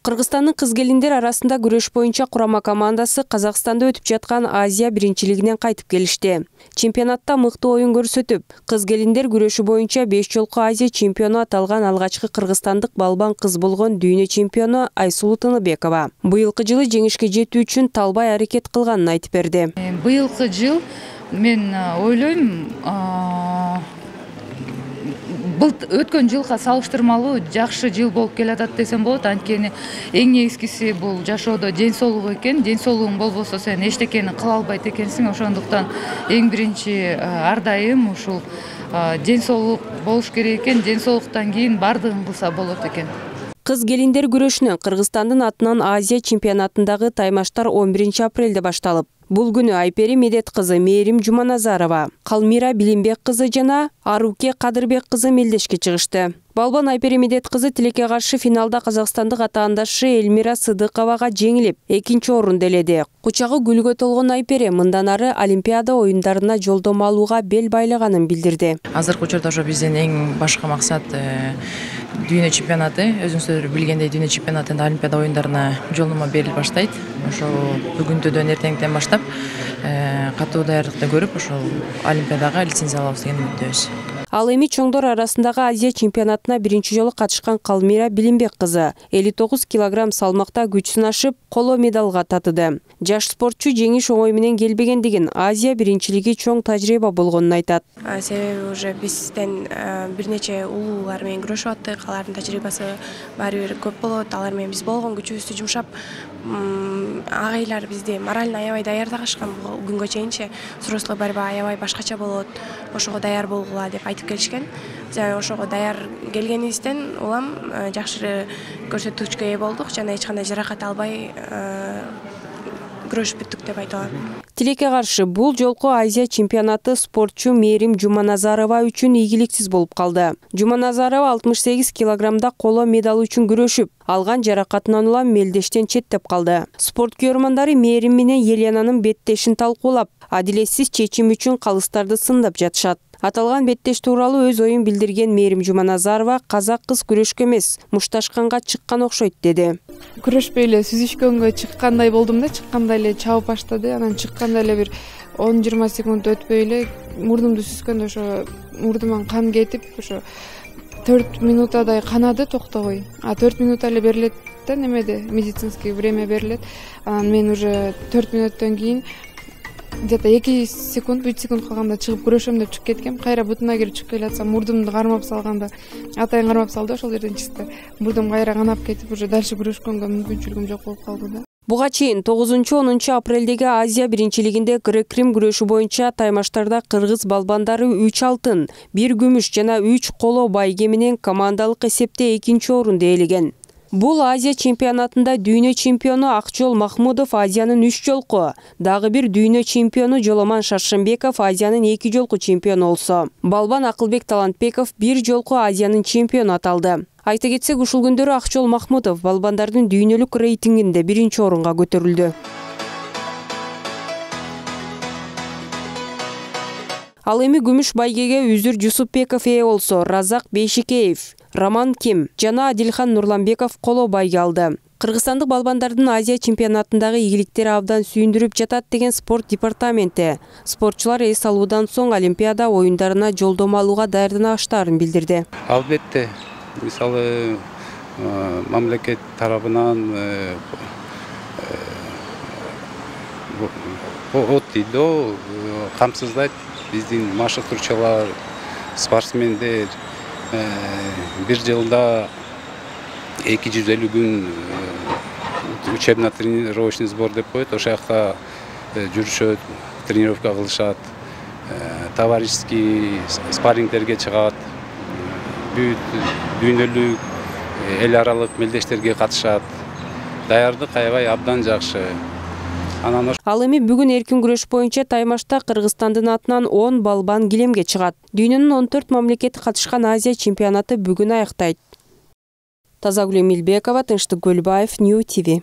Кыргызстандын кыз-келиндер арасында күрөш боюнча курама командасы Казакстанда өтүп жаткан Азия биринчилигинен кайтып келишти. Чемпионатта мыкты оюн көрсөтүп, кыз-келиндер күрөшү боюнча 5 жолку Азия чемпиону аталган алгачкы кыргызстандык балбан кыз болгон дүйнө чемпиону Айсулуу Тыныбекова быйылкы жылы жеңишке жетүү үчүн талбай аракет кылганын айтып берди. Быйылкы жыл мен ойлойм, бул өткөн жылга салыштырмалуу жакшы жыл болуп келатат десем болот. Анткени эң негизгиси бул жашоодо ден соолук экен. Ден соолугуң болбосо сен эчтекени кыла албайт экенсиң. Ошондуктан эң биринчи ар дайым ушул ден соолук болуш керек экен. Ден соолуктан кийин бардыгын кылса болот экен. Кыз-келиндер күрөшүнөн Кыргызстандын атынан Азия чемпионатындагы таймаштар 11 апрелде башталып, бул күнү Айпери Медет кызы Мээрим Жуманазарова, Калмира Билимбек кызы жана Аруке Кадырбек кызы мелдешке чыгышты. Балбан Айпери Медет кызы тилекке каршы финалда казакстандык атаандашы Элмира Сыдыковага жеңилип, 2-орунду ээледи. Кучагы гүлгө толгон Айпери мындан ары Олимпиада оюндарына жолдомо алууга бел байлаганын билдирди. Азыркы учурда ошо биздин эң башкы максат дүйнө чемпионаты. Өзүңүздөр билгендей, дүйнө чемпионатында Олимпиада оюндарына жолдомо берилип баштайт. Ошо бүгүнтөдөн эртеңден баштап катуу даярдыкты көрүп, ошо Олимпиадага лицензия алабыз деген үмүттөбүз. Ал эми чоңдор арасындагы Азия чемпионатына биринчи жолу катышкан Калмира Билимбек кызы 59 килограмм салмакта күч сынашып, коло медалга татыды. Жаш спортчу жеңиш оңой менен келбегендигин, Азия биринчилиги чоң тажрыйба болгонун айтат. Себеби уже бизден бир нече улуулар менен күрөшүп аттык, алардын тажрыйбасы баары бир көп болот. Алар менен биз болгон күчүбүздү жумшап, агайлар бизди морально аябай даярдашкан. Бул күнгө чейинчи взрослый борьба аябай башкача болот. Ошого даяр болгула деп айтып келишкен. Жана ошого даяр келгенибизден улам жакшы көрсөткүчкө ээ болдук жана эч кандай жаракат албай күрөшүп бүттүк деп айта алам. Тилекке каршы бул жолку Азия чемпионаты спортчу Мээрим Жуманазарова үчүн ийгиликсиз болуп калды. Жуманазарова 68 килограммда коло медал үчүн күрөшүп, алган жаракатынан улам мелдештен четтеп калды. Спорт көрөрмандары Мээрим менен Еленанын беттешин талкуулап, адилетсиз чечим үчүн калыстарды сындап жатышат. Аталган беттеш тууралуу өз оюн билдирген Мээрим Жуманазарова казак кыз күрөшкө эмес, мушташканга чыккан окшойт деди. Күрөшпөй эле сүзүшкөнгө чыккандай болдум да, чыкканда эле чабып баштады. Анан чыкканда эле бир 10-20 секунд өтпөй эле мурдумду сүзгөндө ошо мурдуман кан кетип, ошо 4 минутадай канады, токтобой. 4 минут эле берилет да, немеде медицинский время берилет. Анан мен уже 4 минуттан кийин где-то 2 секунд, 3 секунд калганда чыгып күрөшөм деп чыгып кеткем. Кайра бутуна кирип чыгып келатсам, мурдумду кармап салганда, атайын кармап салды, ошол жерден чыкты. Мурдум кайра канап кетип, уже дальше күрөшкөнгө мүмкүнчүлүгүм жок болуп калды да. Буга чейин 9-10 апрелдеги Азия биринчилигинде грек-рим күрөшү боюнча таймаштарда кыргыз балбандары 3 алтын, 1 күмүш жана 3 коло байге менен командалык эсепте 2-орунду ээлеген. Бул Азия чемпионатында дүйнө чемпиону Акчол Махмудов Азиянын 3 жолку, дагы бир дүйнө чемпиону Жоломан Шаршембеков Азиянын 2 жолку чемпиону болсо, балбан Акылбек Талантбеков 1 жолку Азиянын чемпиону аталды. Айта кетсек, ушул күндөрү Акчол Махмудов балбандардын дүйнөлүк рейтингинде 1-орунга көтөрүлдү. Ал эми күмүш байгеге Үзүр Жусупбеков ээ болсо, Разак Бейшикеев, Роман Ким жана Адилхан Нурланбеков коло байге алды. Кыргызстандык балбандардын Азия чемпионатындагы ийгиликтери абдан сүйүндүрүп жатат деген спорт департаменти. Спортчулар эс алуудан соң Олимпиада оюндарына жолдомо алууга даярданыштарын билдирди. Албетте, мисалы мамлекет тарабынан ОТИДО камсыздайт. Биздин машыктыруучулар, спортсмендер бир жылда 250 күн учебно-тренировочный сбор деп коет. Ошол жакта жүрүшөт, тренировка кылышат, товарищеский спаррингдерге чыгат, бүт дүйнөлүк эл аралык мелдештерге катышат. Даярдык аябай абдан жакшы. Ал эми бүгүн эркин күрөш боюнча таймашта Кыргызстандын атынан 10 балбан килемге чыгат. Дүйнөнүн 14 мамлекети катышкан Азия чемпионаты бүгүн аяктайт. Тазагүл Эмилбекова, Тынчтык Көлбаев, Нью ТВ.